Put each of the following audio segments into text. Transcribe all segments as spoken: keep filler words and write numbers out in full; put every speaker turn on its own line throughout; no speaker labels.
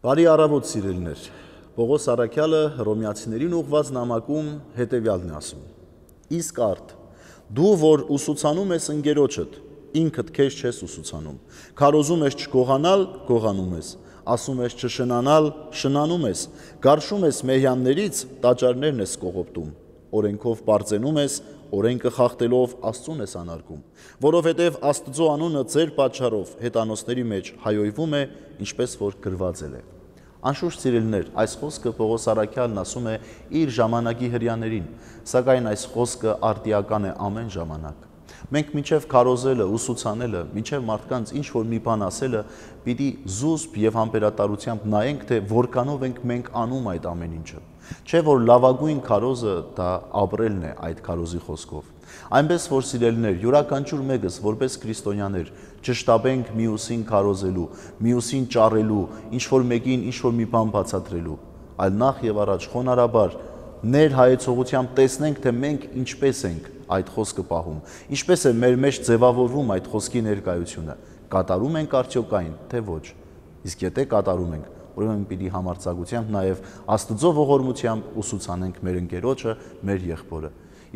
Բարի առավոտ սիրելիներ, Պողոս Առաքյալը Հռոմեացիներին ուղղված նամակում հետևյալն է ասում. Իսկ արդ, դու որ ուսուցանում ես ընկերոջդ, ինքդ քեզ չես ուսուցանում, քարոզում ես չգողանալ, գողանում ես, ասում ես չշնանալ, շնանում ես, գարշում ես մեհյաններից, տաճարներն ես կողոպտում, օրենքով պարծենում ես, օրենքը խախտելով Աստծուն ես անարգում, որովհետև Աստծո անունը ձեր պատճառով հետանոցների մեջ հայոյվում է, ինչպես որ գրված է։ Անշուշտ սիրելիներ, այս խոսքը Պողոս Առաքյալն ասում է իր ժամանակի հրեաներին, սակայն այս խոսքը արդիական է ամեն ժամանակ։ Մենք մինչև քարոզելը, ուսուցանելը, մինչև մարդկանց ինչ որ մի բան ասելը, պիտի զուսպ եւ համբերատարությամբ նայենք, թե որքանով ենք մենք անում այդ ամեն ինչը։ Չէ որ լավագույն քարոզը դա ապրելն է այդ քարոզի խոսքով։ Այնպես որ սիրելիներ, յուրաքանչյուր մեկս որպես քրիստոնյաներ չշտաբենք մյուսին քարոզելու, մյուսին ճառելու, ինչ որ մեկին ինչ որ մի բան բացատրելու, այլ նախ եւ առաջ խոնարհաբար ներհայեցողությամբ տեսնենք, թե մենք ինչպես ենք այդ խոսքը պահում, ինչպես է մեր մեջ ձևավորվում այդ խոսքի ներկայությունը, կատարում ենք արդյոք այն, թե ոչ։ Իսկ եթե կատարում ենք, ուրեմն պիտի համարձակությամբ նաև Աստծո ողորմությամբ ուսուցանենք մեր ընկերոջը, մեր եղբորը։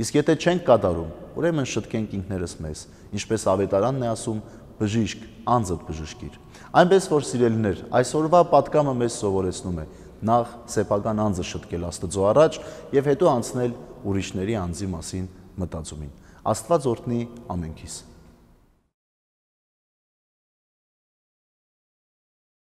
Իսկ եթե չենք կատարում, ուրեմն շտկենք ինքներս մեզ, ինչպես ավետարանն է ասում, բժիշկ, անձդ բժշկիր։ Այնպես որ սիրելիներ, այսօրվա պատգամը մեզ սովորեցնում է նախ սեփական անձը շտկել Աստծո առաջ եւ հետո անցնել ուրիշների անձի մասին մտածումին։ Աստված օրհնի ամենքիս։